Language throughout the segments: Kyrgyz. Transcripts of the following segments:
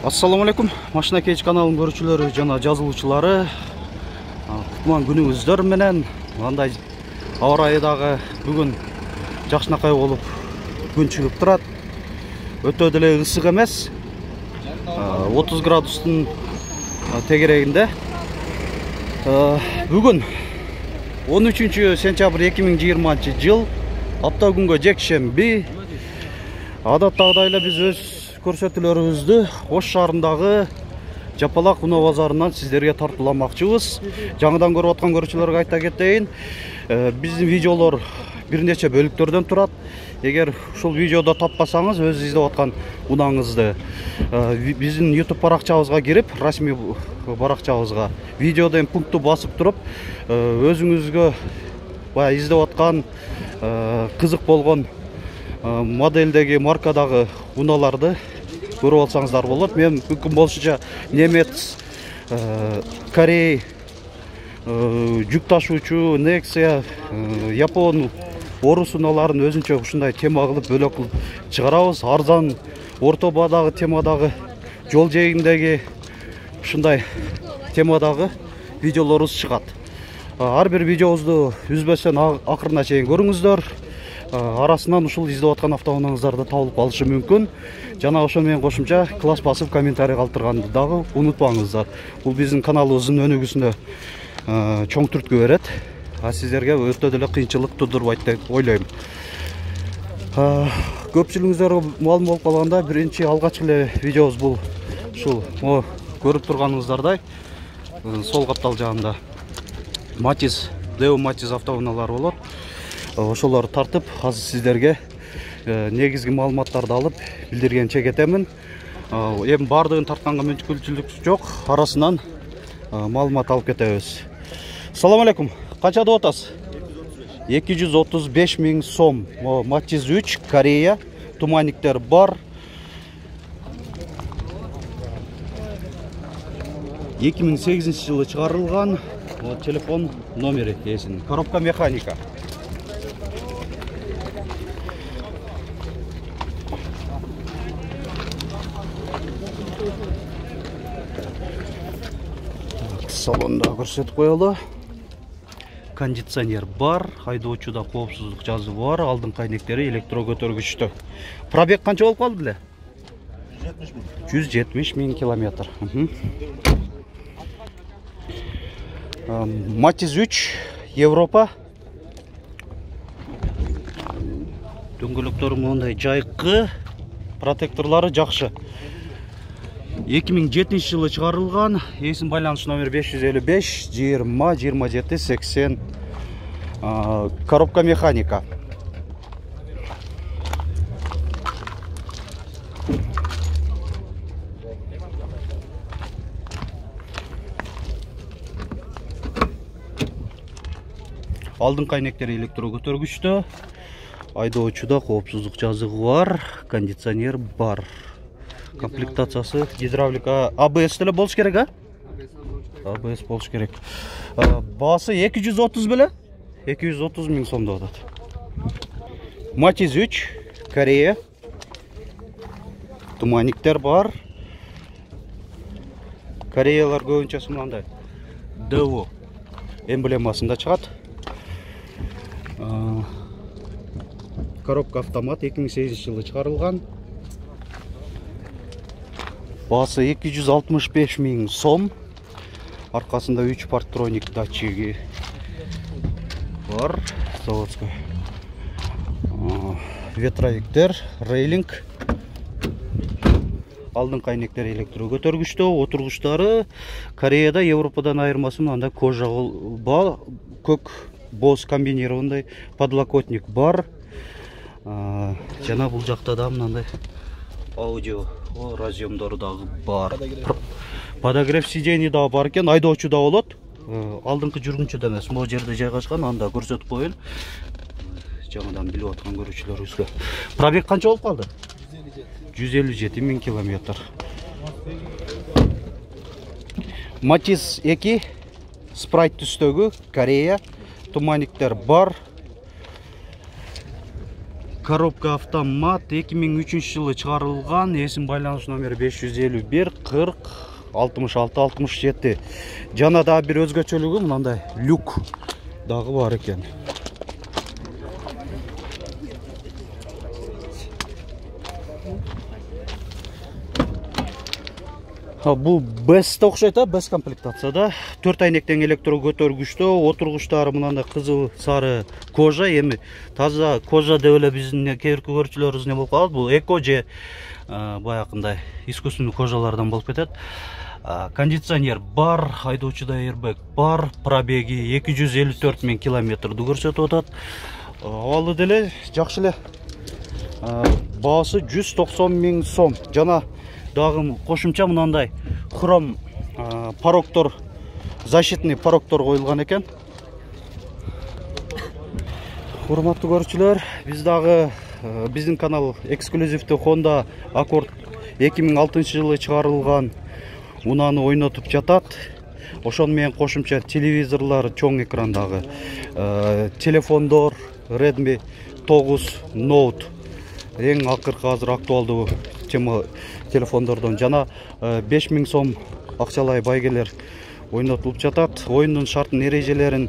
Assalamu alaikum. Машина кеч каналынын көрүүчүлөрү жана жазылуучулары. Кутман күнүңүздөр менен. Мындай аба ырайы дагы бүгүн жакшынакай болуп күн чыгып турат. Өтө деле ысык эмес. 30 градустун тегерегинде. Бүгүн 13-сентябрь 2020-жыл апта күнгө жекшемби. Адаттагыдай эле биз өз көрсөтүүлөрүбүздү Ош шаарындагы Жапалак унаа базарынан сиздерге тартууламакчыбыз. Жаңыдан көрүп аткан көрүүчүлөргө айта кетейин, биздин видеолор бир нече бөлүктөрдөн турат. Эгер ушул видеодо таппасаңыз, өз издеп аткан унааңызды биздин YouTube баракчабызга кирип, расмий баракчабызга видеодон пунктту басып туруп, өзүңүзгө баягы издеп аткан кызык болгон модельдеги маркадагы унааларды көрүп алсаңыздар болот. Мен мүмкүн болушунча немец, Корей, жүк ташуучу, Nexia, Япон, орус унааларын өзүнчө ушундай тема кылып, бөлөк кылып чыгарабыз. Арзан, орто баадагы темадагы, жол жээгиндеги ушундай темадагы видеолорубуз чыгат. Ар бир видеобузду үзбөстөн акырына чейин көрүңүздөр. Арасынан ушул издеп аткан автоунааңыздарды табылып калышы мүмкүн. Жана ошо менен кошумча класс басып комментарий калтырганды дагы унутпаңыздар. Бул биздин каналыбыздын өнүгүүсүнө чоң түрткү берет. Сиздерге өтө деле кыйынчылык тудурбайт деп ойлойм. Көпчүлүгүңүздөргө маалым болуп калганда, биринчи алгачкы эле видеобуз бул ушул көрүп турганыңыздардай сол каптал жагында Matiz, Deo Matiz автоунаалары болот. Ошолорду тартып, азыр сиздерге негизги маалыматтарды алып билдиргенче кетемин. Эми бардыгын тартканга мүмкүнчүлүк жок, арасынан маалымат алып кетебиз. Салам алейкум. Канча деп атасыз? 235 000 сом. Matiz 3, Корея, туманниктер бар. 2008 жылы чыгарылган. Телефон номери эсин. Коробка механика. Салонда көрсөтүп коелу. Кондиционер бар, айдоочуда коопсуздук жазуу бар, алдыңкы айнектери электро көтөргүчтүү. Пробег канча болуп калды эле? 170 000 километр. Matiz 3, Европа. Дөңгөлөктөрү мындай жайкы, протекторлору жакшы. 2007 жылы чыгарылган. Эсин байланыш номер 555 20 27 80. Коробка механика. Алдыңкы айнектери электро көтөргүчтүү. Айдоочуда коопсуздук жазыгы бар, кондиционер бар. Комплектациясы гидравлика, ABS деле болуш керек, ABS болуш керек. Баасы 230 беле? 230 000 сом деп атат. Matiz 3, Корея. Туманниктер бар. Кореялар көбүнчөсү мындай Deo эмблемасында чыгат. Коробка автомат 2008 жылы чыгарылган. Баасы 265 000 сом. Аркасында 3 парктроник датчиги бар. Заводской. Ветровиктер, рейлинг. Алдыңкы айнектери электро көтөргүчтүү, отургучтары Кореяда, Европадан айырмасы мындай кожа бар, көк боз комбинированный подлокотник бар. Жана бул жакта да мындай аудио разъемдору дагы бар. Подогрев сидений дагы бар экен, айдоочу да болот. Алдыңкы жүргүнчүдө эмес, могу жерде жайгашкан, анда көрсөтүп коеюн. Жаңыдан билип аткан көрүүчүлөрүбүзгө. Пробег канча болуп калды? 157 000 километр. Matiz 2, Sprite түстөгү, Корея, туманниктер бар. коробка автомат 2003-жылы чыгарылган. Эсин байланыш номери 551 40 66 67. Жана да бир өзгөчөлүгү мындай люк дагы бар экен. Бул бест окшойт, бест комплектацияда. 4 айнектен электро көтөргүчтө, отургучтары мындай кызыл сары кожа, эми таза кожа деп эле биздин кээбирки көрүүчүлөрүбүз не болуп калат. Бул эко же баягындай искусственный кожалардан болуп кетет. Кондиционер бар, айдоочуда airbag бар, пробеги 254 000 километрди көрсөтүп атат. Абалы деле жакшы эле. Баасы 190 000 сом. Жана дагы кошумча мындай хром порогтор, защитный порогтор коюлган экен. Урматтуу көрүүчүлөр, биз дагы биздин канал эксклюзивдүү Honda Accord 2006-жылы чыгарылган унааны ойнотуп жатат. Ошону менен кошумча телевизорлор, чоң экрандагы телефондор Redmi 9 Note эң акыркы азыр актуалдуу тема телефондордон жана 5000 сом акчалай байгелер ойнотулуп жатат. Оюндун шартын эрежелерин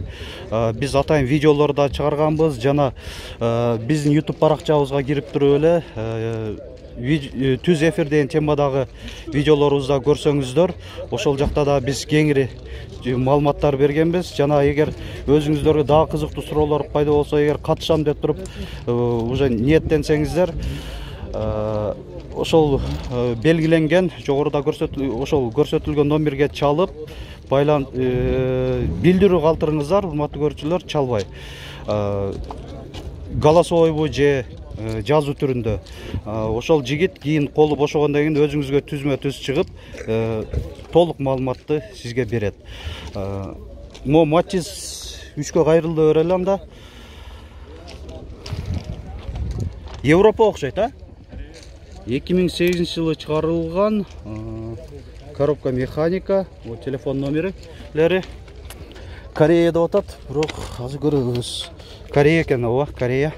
биз атайын видеолорду чыгарганбыз жана биздин YouTube баракчабызга кирип туруп эле түз эфир деген темадагы видеолорубузда көрсөңүздөр, ошол жакта да биз кеңири маалыматтар бергенбиз. Жана эгер өзүңүздөргө дагы кызыктуу суроолор пайда болсо, эгер катышам деп туруп уже ниеттенсеңиздер, ошол белгиленген жогоруда ошол көрсөтүлгөн номерге чалып билдирүү калтырыңыздар, урматтуу көрүүчүлөр, чалбай. Голосовойбу же жазуу түрүндө. Ошол жигит кийин колу бошогондон кийин өзүңүзгө түзмө-түз чыгып, толук маалыматты сизге берет. Мо Matiz 3кө кайрылды берели анда. Европа окшойт, 2008-жылы чыгарылган, коробка механика, телефон номерлери. Корея деп атат, бирок азыр көрөбүз. Корея экен, Корея.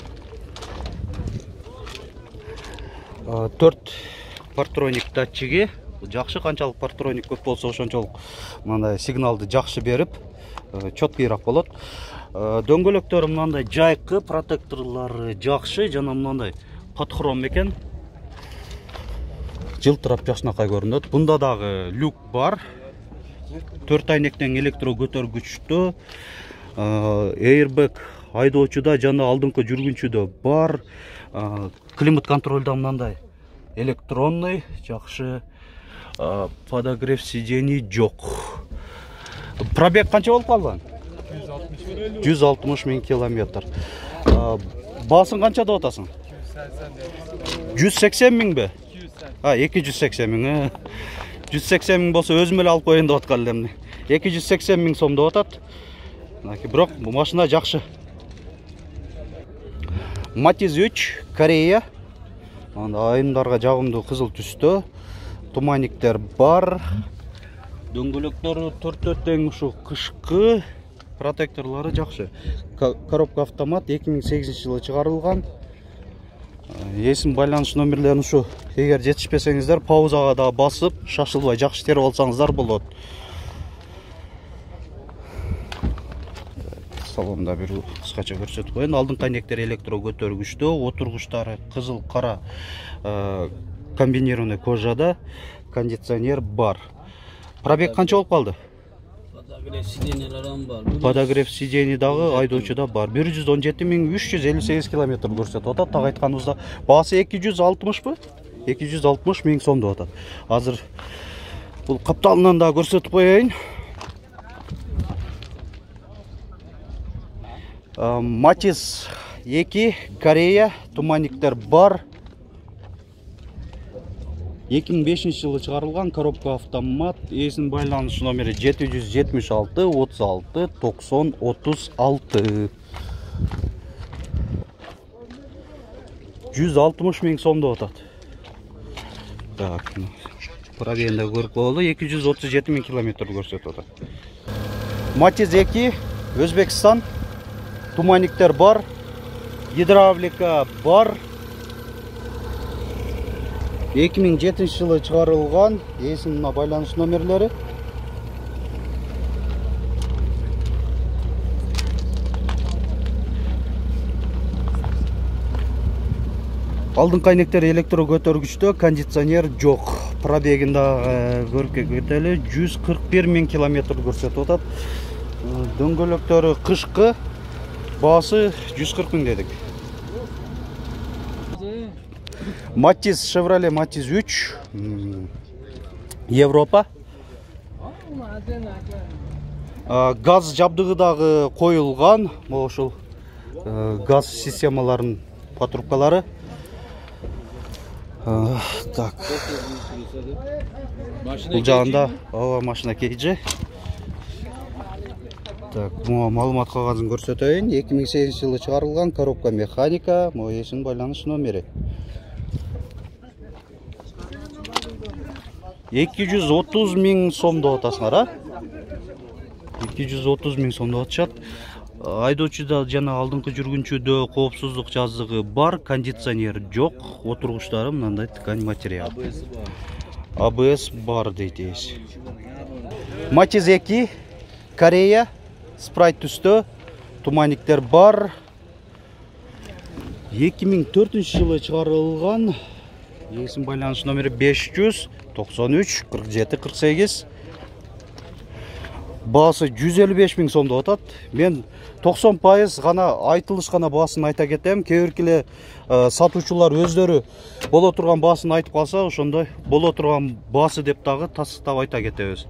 4 партроник датчиги. Жакшы, канчалык партроник көп болсо ошончолук мындай сигналды жакшы берип, чоткуйраак болот. Дөңгөлөктөрү мындай жайкы, протекторлору жакшы, жана мындай подхром экен. Жылтырап жакшынакай көрүнөт. Бунда дагы люк бар. 4 айнектен электро көтөргүчтө, airbag айдоочуда жана алдыңкы жүргүнчүдө бар. Климат контролда мындай электронный, жакшы. Подогрев сидений жок. Пробег канча болуп калган? 160 000 километр. Баасын канча деп атасың? 180 000 бе? 280 000. 180 000 болсо өзүм эле алып коеюн деп аткан элем. 280 000 сом деп атат. Бирок бул машина жакшы. Matiz 3 Корея. Айымдарга жагымдуу кызыл түстө. Туманиктер бар. Дөңгөлөктөрү 4 тең ушу кышкы. Протекторлору жакшы. Коробка автомат 2008-жылы чыгарылган. Эсин байланыш номерлерин ушу. Эгер жетишпесеңиздер, паузага да басып, шашылбай жакшы терип алсаңыздар болот. Салонда бир кыскача көрсөтүп коеюн. Алдыңкы айнектер электро көтөргүчтө, отургучтары кызыл кара комбинированный кожада, кондиционер бар. Пробег канча болуп калды? Подогрев сиденьелерин бар. Подогрев сидений дагы айдоочуда бар. 117 358 километр көрсөтүп атат. Так айтканыбызда баасы 260 бы? 260 000 сом деп атат. Азыр бул капталынан да көрсөтүп коеюн. Matiz 2 Корея, туманиктер бар. 2005-жылы чыгарылган, коробка автомат, эсин байланыш номери 776 36 90 36. 160 000 сом деп атат. Так, пробегинде көрүп болду, 237 000 километр көрсөтүп атат. Matiz 2 Өзбекстан, туманиктер бар, гидравлика бар. 2007 жылы чыгарылган. Эсин мына байланыш номерлери. Алдыңкы айнектер электро көтөргүчтө, кондиционер жок. Пробегин да көрүп кетели, 141 000 километр көрсөтүп атат. Дөңгөлөктөрү кышкы, баасы 140 000 дедик. Матиз, Chevrolet Матиз 3, Европа. Газ жабдыгы дагы коюлган, ошол газ системаларынын патрубкалары. Так. Бул жагында машина кейжи. Так, бу маалымат кагазын көрсөтөйүн. 2008 жылы чыгарылган, коробка механика, эсин байланыш номери. 230 000 сом деп атасыңар, а? 230 000 сом деп атышат. Айдоочуда жана алдыңкы жүргүнчүдө коопсуздук жазыгы бар, кондиционер жок, отургучтары мындай ткань материал. АБС бар дейт эс. Матиз 2, Корея, спрайт түстө, туманниктер бар. 2004 жылы чыгарылган. Эсин байланыш номери 593 47 48. Баасы 155 000 сом деп атат. Мен 90% гана айтылышкан баасын айта кетем. Кээ биркиле сатуучулар өздөрү боло турган баасын айтып калса, ошондой боло турган баасы деп дагы тастап айта кетебиз.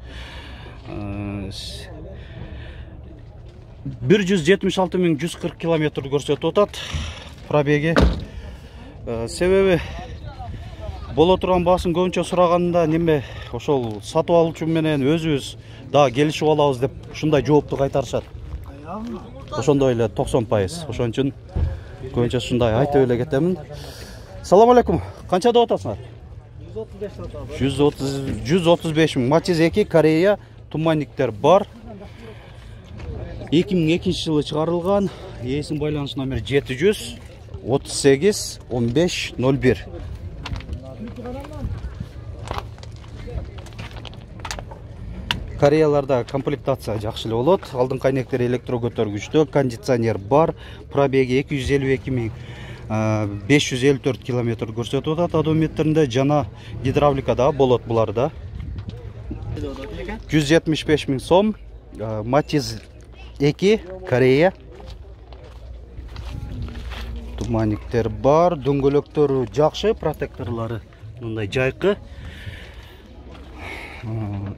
176 140 километр көрсөтүп атат пробеги. Себеби боло турган баасын көбүнчө сураганда неме ошол сатып алуучу менен өзүбүз да келишип алабыз деп ушундай жоопту кайтарышат. Ошондой эле 90%. Ошон үчүн көбүнчө ушундай айтып эле кетемин. Салам алейкум. Канча деп атасыңар? 135 000. Матиз 2, Корея, туманниктер бар. 2002 жылы чыгарылган. Эсин байланыш номери 700 38 15 01. Кореяларда комплектация жакшы эле болот. Алдыңкы айнектер электро көтөргүчтө, кондиционер бар. Пробеги 252 554 километр көрсөтүп атат одометринде, жана гидравлика да болот буларда. 175 000 сом. Матиз 2, Корея. Туманниктер бар, дөңгөлөктөрү жакшы, протекторлору мындай жайкы.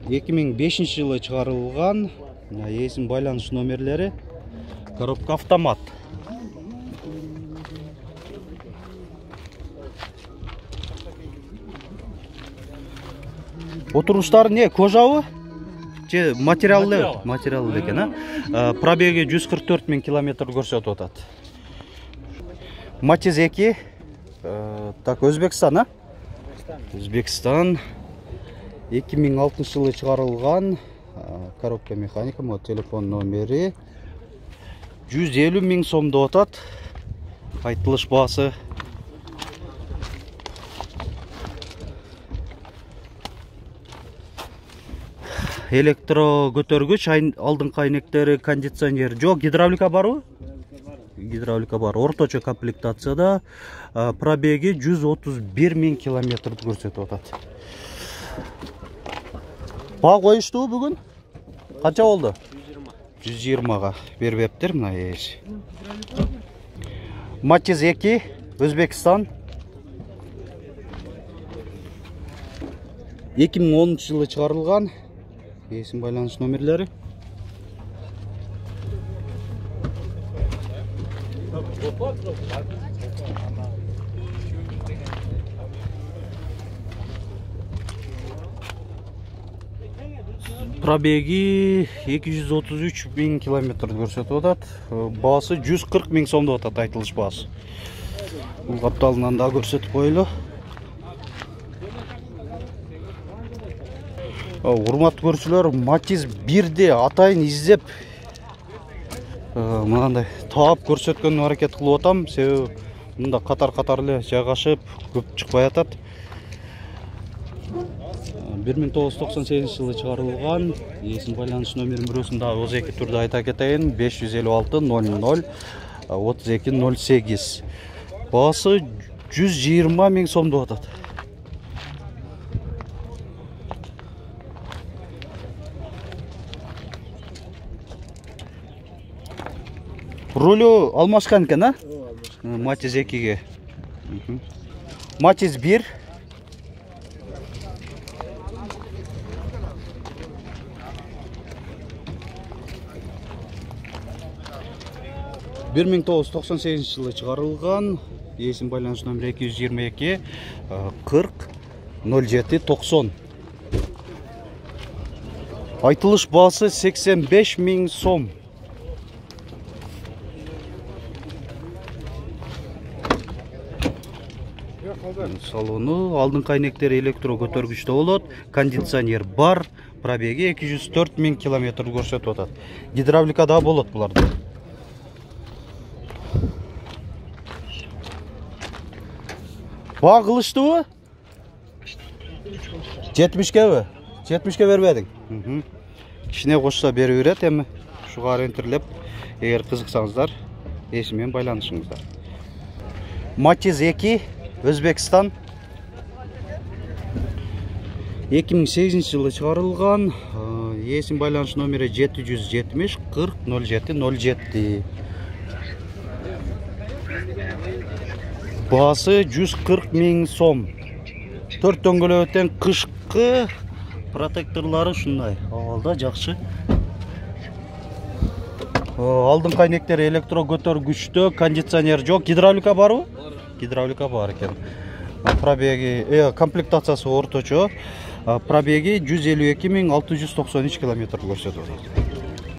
2005 жылы чыгарылган. Эсин байланыш номерлери. Коробка автомат. Отургучтары не, кожабы? Же материалды? Материалды экен, а? Пробеги 144 000 километр көрсөтүп атат. Матиз 2. Так, Өзбекстан, а? Өзбекстан. 2006 жылы чыгарылган. Коробка механика, телефон номери 150 000 сом деп атат. Айтылыш баасы. Электро көтөргүч, алдыңкы айнектери, кондиционер жок, гидравлика барбы? Гидравлика бар. Орточо комплектацияда. Пробеги 131 000 километр көрсөтүп атат. Баа коюшту бүгүн? Канча болду? 120га бербептир мына эш. Матиз 2, Өзбекстан. 2010 жылы чыгарылган. Эсин байланыш номерлери. Пробеги 233 000 километр көрсөтүп атат. Баасы 140 000 сом деп атат айтылыш баасы. Бул капталынан да көрсөтүп коелу. Урматтуу көрүүчүлөр, Матиз 1ди атайын издеп мындай таап көрсөткөнгө аракет кылып атам. Себеби мында катар эле жайгашып, көп чыкпай атат. 1998 жылы чыгарылган. Ээсин байланыш номерин бирөөсүн дагы өз эки түрдө айта кетейин. 556 00 3208. Баасы 120 000 сомдоп атат. Рулю алмашкан экен, а? Матиз 2-ге. Матиз 1. Бир 1998 жылы чыгарылган. Ээсин байланыш номери 222 40 07 90. Айтылыш баасы 85 000 сом. Салону алдыңкы айнектери электро көтөргүчтө болот. Кондиционер бар. Пробеги 204 000 км көрсөтүп атат. Гидравлика да болот буларда. Баа кылыштыбы? 70-кеби? 70-ке бербедиң? Кичине кошсо берип берет эми. Ушуга ориентирлеп, эгер кызыксаңыздар, ээси менен байланышыңыздар. Матиз 2, Өзбекстан. 2008 жылы чыгарылган. Ээсин байланыш номери 770 40 07 07. Баасы 140 000 сом. 4 дөңгөлөктөн кышкы протекторлары ушундай. Абалда жакшы. Алдыңкы айнектери электро көтөргүчтө, кондиционер жок. Гидравлика барбы? Гидравлика бар экен. Пробеги, комплектациясы орточо. Пробеги 152 693 км көрсөтөт.